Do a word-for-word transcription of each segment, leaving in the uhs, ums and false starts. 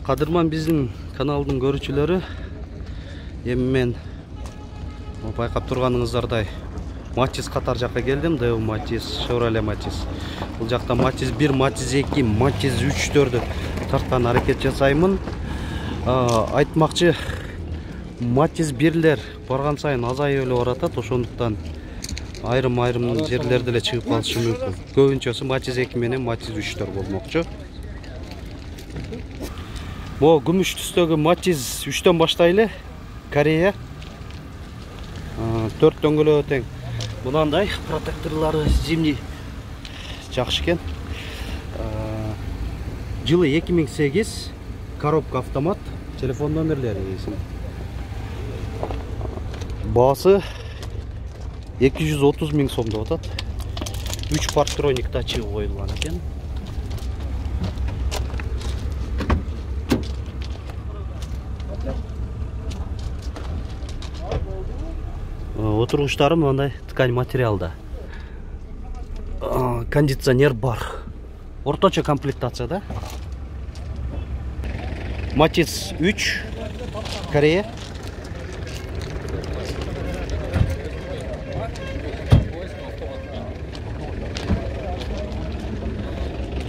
Кадырман биздин каналдын көрүүчүлөрү, эми мен байкап турганыңыздардай Матис катар жакка келдим. Дэу Матис, Chevrolet Матис. Бул жакта Матис бир, Матис эки, Матис үчтөрдү тарткан аракет жасаймын. Айтмакчы, Матис бирлер барган сайын азайып эле баратат, ошондуктан айрым-айрым жерлерде эле чыгып калышы мүмкүн. Көбүнчөсү Матис эки менен Матис үчтөр болмокчу. Бу күмүш түстөгү Матис үчтөн баштайлы. Корея. төрт дөңгөлөгү тең. Мынандай протекторлары зимний жакшы экен. Жылы эки миң сегиз, коробка автомат, телефон номерлери эсим. Баасы эки жүз отуз миң сом деп атат. үч парктроник тачы коюлган экен. Отургучтары мындай ткань материалда. Кондиционер бар. Орточо комплектацияда. Матис үч, Корея.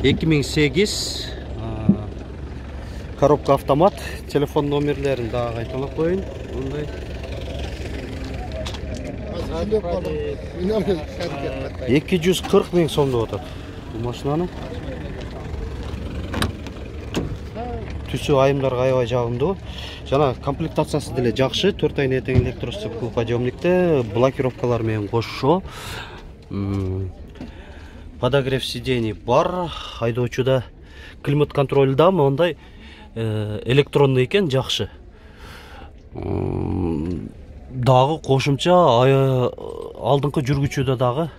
эки миң сегиз, коробка автомат, телефон номерлерин дагы кайталап коеюн. Мындай эки жүз кырк миң сом деп атат бул машинаны. Түсү айымдарга аябай жагымдуу. Жана комплектациясы деле жакшы. төрт айына тең электростеклоподъемникте, блокировкалар менен кошо. Подогрев сидений бар. Айдоочуда климат контроль да мындай электронный экен, жакшы. Дагы кошумча алдыңкы жүргүчүдө дагы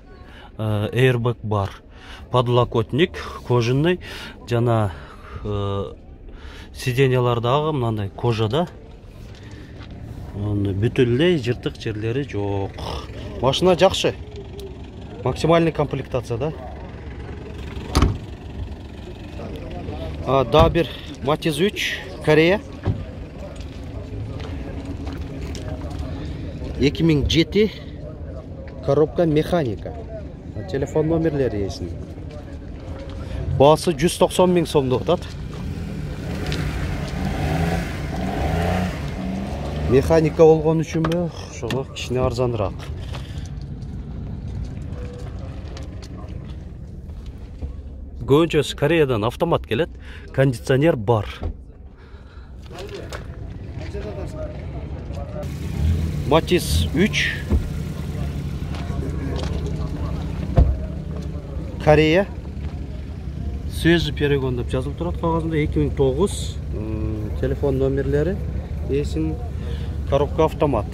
airbag бар. Подлокотник кожаный, жана сиденьялар дагы мындай кожада. Бүтүн эле жыртык жерлери жок. Машина жакшы. Максимальный комплектацияда. Да бир Матис үч, Корея. эки миң жети, коробка механика. Телефон номерлери эсин. Баасы жүз токсон миң сом деп атат. Механика болгон үчүнбү, ошого кичине арзаныраак. Көбүнчөсү Кореядан автомат келет, кондиционер бар. Матис үч, Корея. Свежий перегон деп жазылып турат кагазында. эки миң тогуз, телефон номерлери эсин, коробка автомат.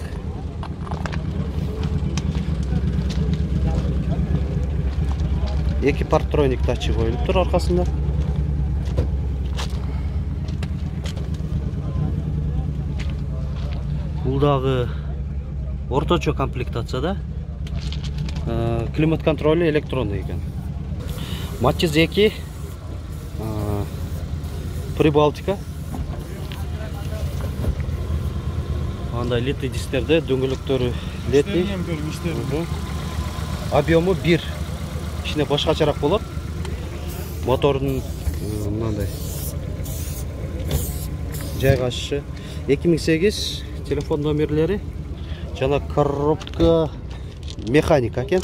эки парктроник тачы коюлуп тур аркасында. Бул дагы орточо комплектацияда. Климат контроль электронный экен. Матис эки, Прибалтика. Андай литый дисктерде, дөңгөлөктөрү литый. Объему бир. Кичине башкачараак болот. Мотордун мындай жайгашышы. эки миң сегиз, телефон номерлери жана коробка механика экен.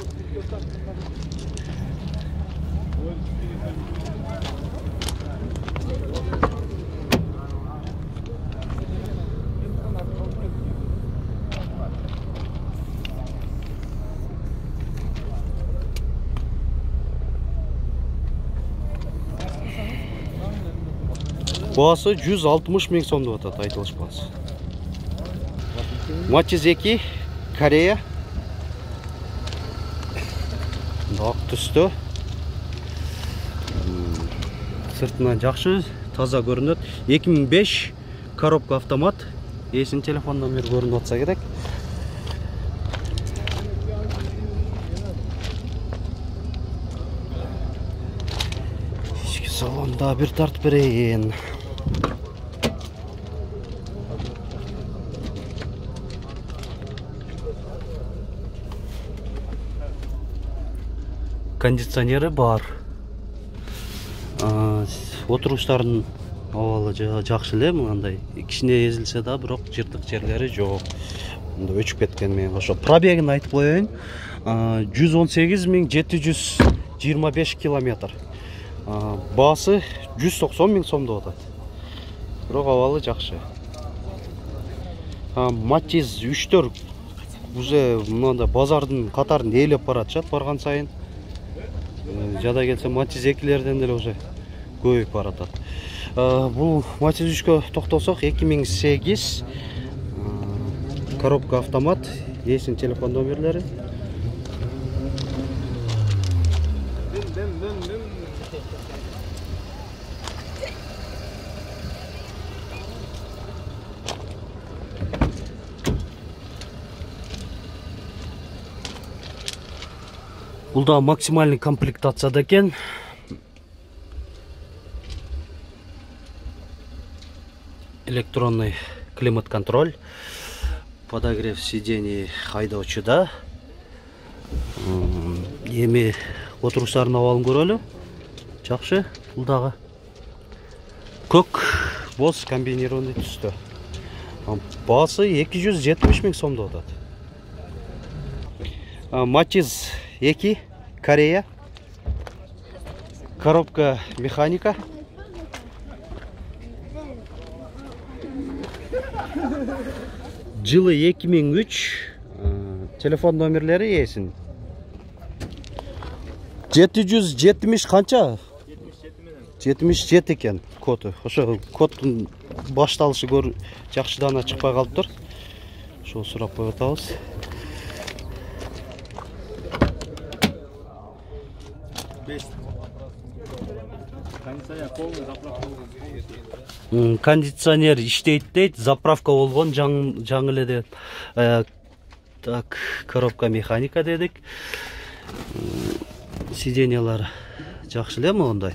Баасы жүз алтымыш миң сом деп атат, айтылышпас. Матис эки, Корея. Ак түстө. Сыртынан жакшы, таза көрүнөт. эки миң беш, коробка автомат. Эсин, телефон номер көрүнүп атса керек. Ички салонда бир тарт берейин. кондиционери бар. Отуруштардын абалы жакшы эле, мындай кичине эзилсе да, бирок жыртык жерлери жок. Мында өчүп кеткен менен кошо. Пробегин айтып коеюн. жүз он сегиз миң жети жүз жыйырма беш километр. Баасы жүз токсон миң сом деп атат. Бирок абалы жакшы. Матиз үчтөр уже мында базардын катарын ээлеп баратышат барган сайын. Жада келсе Матиз экилерден деле уже көбөйүп баратат. Бул Матиз үчкө токтосок, эки миң сегиз коробка автомат, эсин телефон номерлери. Бул да максимальный комплектацияда экен. Электронный климат-контроль, подогрев сидений айдоочуда. Эми отуруштардын абалын көрөлү. Жакшы, бул дагы көк боз комбинированный түстө. Баасы эки жүз жетимиш миң сом деп атат. Матиз эки, Корея. Коробка механика. Жылы эки миң үч. Телефон номерлери эсин. жети жүз жетимиш канча? жетимиш жети экен коду. Ошо коддун башталышы көр жакшыдан чыкпай калыптыр. Ошо сурап коюп атабыз. Кондиционер иштейт дейт, заправка болгон, жаңы эле дейт. Так, коробка механика дедик. Сиденьялар жакшы эле, мондай.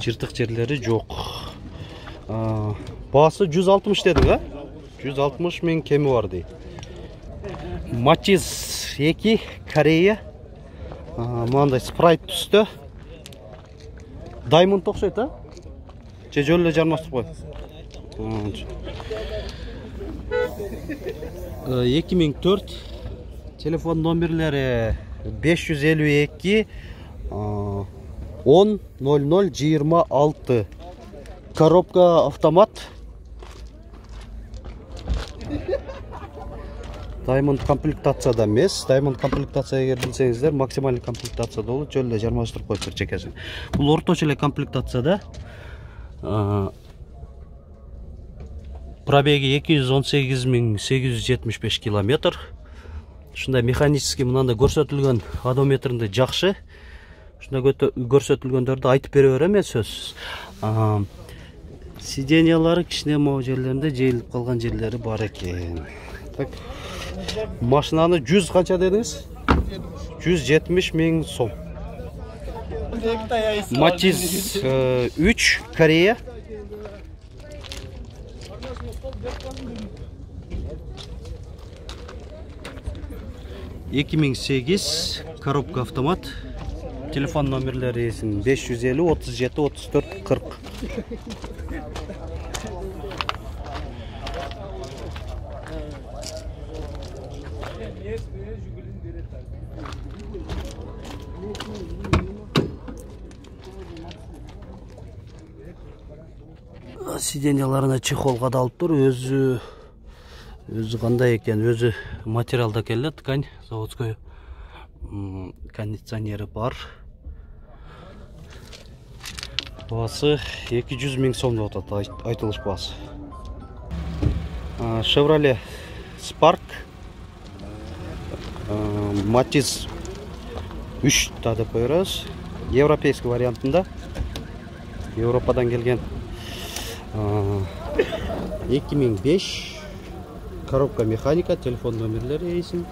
Жыртык жерлери жок. Баасы жүз алтымыш дедик, а? жүз алтымыш миң кеми бар дейт. Матиз эки, Корея. Мындай спрайт түстө. Даймонд окшойт, а? Же жөн эле жармастык кой. эки миң төрт. Телефон номерлери беш жүз элүү эки он ноль ноль жыйырма алты. Коробка автомат. Даймонд комплектацияда эмес. Даймонд комплектация эгер билсеңиздер, максималдык комплектацияда болот, жөн эле жармаштырып коюптур чекесин. Бул орточо эле комплектацияда. Пробеги эки жүз он сегиз миң сегиз жүз жетимиш беш километр. Ушундай механический мынандай көрсөтүлгөн одометринде жакшы. Ушундай көрсөтүлгөндөрдү айтып бере берем мен сөзсүз. Сиденьялары кичине могу жерлеринде жейилип калган жерлери бар экен. Так. Машинаны жүз канча дедиңиз? жүз жетимиш миң сом. Матиз үч, Корея. эки миң сегиз, коробка автомат. Телефон номерлери эсин беш жүз элүү отуз жети отуз төрт кырк. Сиденьяларына чехол кадалыптыр, өзү өзү кандай экен, өзү материалда келет, ткань заводской. Кондиционери бар. Баасы эки жүз миң сом деп атат, айтылыш баасы. Chevrolet Spark. Матиз үч да деп коебуз. Европейский вариантында. Европадан келген. эки миң беш. Коробка механика, телефон номерлери эсин.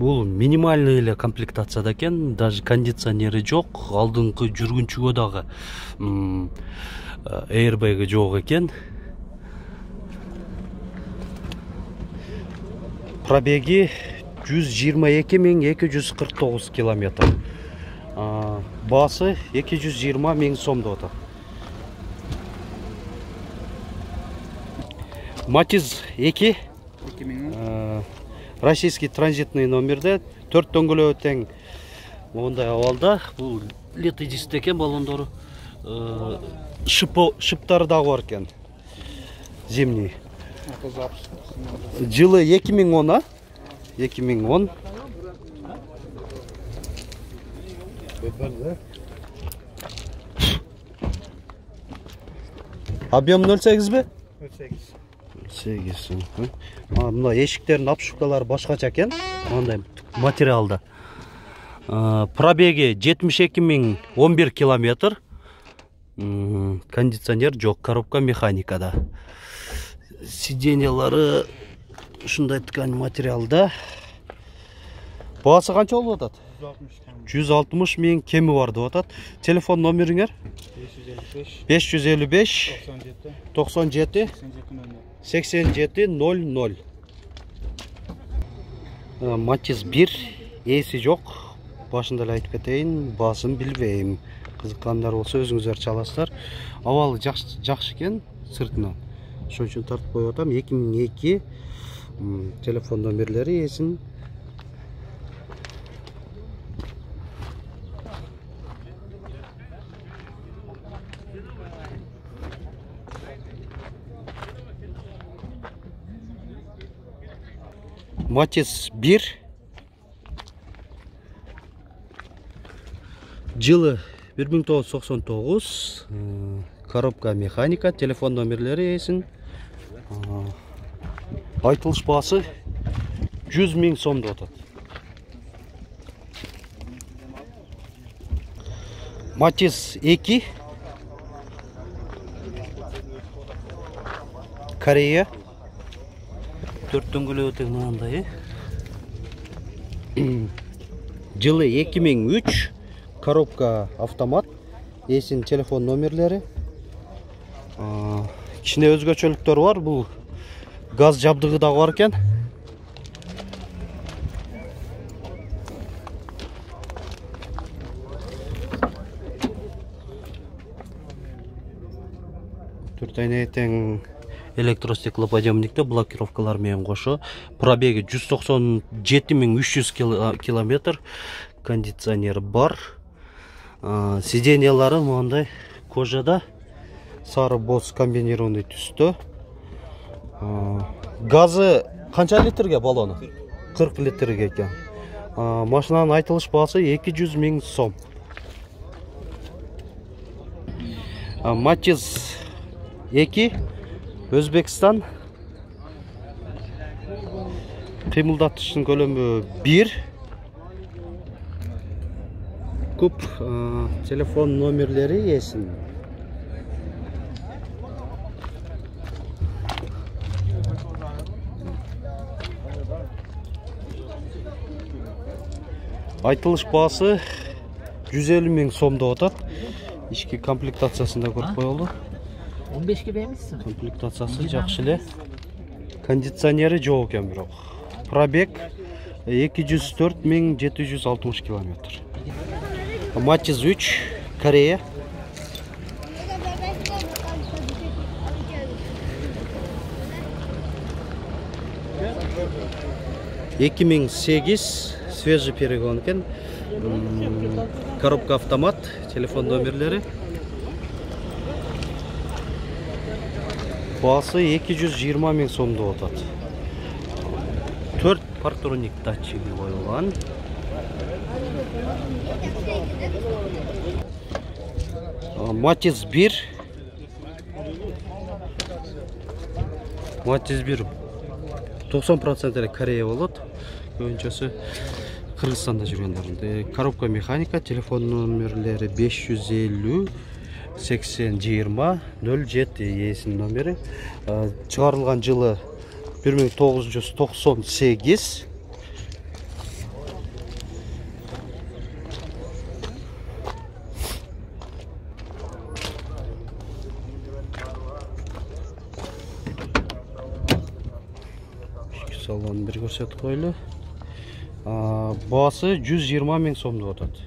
Бул минимальный эле комплектацияда экен, даже кондиционери жок, алдыңкы жүргүнчүгө дагы airbag жок экен. Пробеги жүз жыйырма эки миң эки жүз кырк тогуз километр. Баасы эки жүз жыйырма миң сом деп атат. Матиз эки российский транзитный номерде, төрт дөңгөлөбү тең мондай абалда. Бул лето диск экен, баллондору шыптары дагы бар экен. Зимний. Жылы эки миң он, эки миң он. Объем ноль сегиз бе? ноль сегиз. сегиз. Мына эшиктердин обшивкалары башкача экен, мындай материалда. Пробеги жетимиш эки миң он бир километр. Кондиционер жок, коробка механикада. Сиденьялары ушундай ткань материалда. Баасы канча болуп атат? жүз алтымыш миң кеми бар деп атат. Телефон номериңер? беш жүз элүү беш токсон жети сексен жети ноль ноль. Матиз бир, эси жок. Башында эле айтып кетейин, баасын билбейм. Кызыккандар болсо өзүңүздөр чаласыздар. Абалы жакшы экен сыртынан. Ошон үчүн тартып коюп атам. эки миң эки телефон номерлери эсин. Матиз бир. Жылы бир миң тогуз жүз токсон тогуз. Коробка механика, телефон номерлери эсин. Айтылыш баасы жүз миң сом деп атат. Матиз эки. Корея. төрт дөңгөлөбү тең мынандай. Жылы эки миң үч. Коробка автомат. Эсин телефон номерлери. Кичине өзгөчөлүктөр бар. Бул газ жабдыгы дагы бар экен. төрт айнеге тең электростеклоподъемникте блокировкалар менен кошо. Пробеги жүз токсон жети миң үч жүз километр. Кондиционер бар. Сиденьялары мындай кожада, сары боз комбинированный түстө. Газы канча литрге баллону? кырк литрге экен. Машинанын айтылыш баасы эки жүз миң сом. Матиз эки. Өзбекстан. Кыймылдатыштын көлөмү бир. Куп телефон номерлери эсин. Айтылыш баасы жүз элүү миң сом деп атат. Ички комплектациясында көрүп коелу. он бешке бермексиң? Комплектациясы жакшы эле. Кондиционери жок экен бирок. Пробег эки жүз төрт миң жети жүз алтымыш километр. Матиз үч, Корея. эки миң сегиз, свежий перегон экен. Коробка автомат, телефон номерлери. Баасы эки жүз жыйырма миң сом деп атат. төрт партроник датчиги коюлган. Матиз бир. Матиз бир токсон процент эле Корея болот. Көбүнчөсү Кыргызстанда жүргөндөр. Коробка механика, телефон номерлери беш жүз элүү сексен жыйырма ноль жети эсин номери. Чыгарылган жылы бир миң тогуз жүз токсон сегиз. салонун бир көрсөтүп коелу. Баасы жүз жыйырма миң сомдуп атат.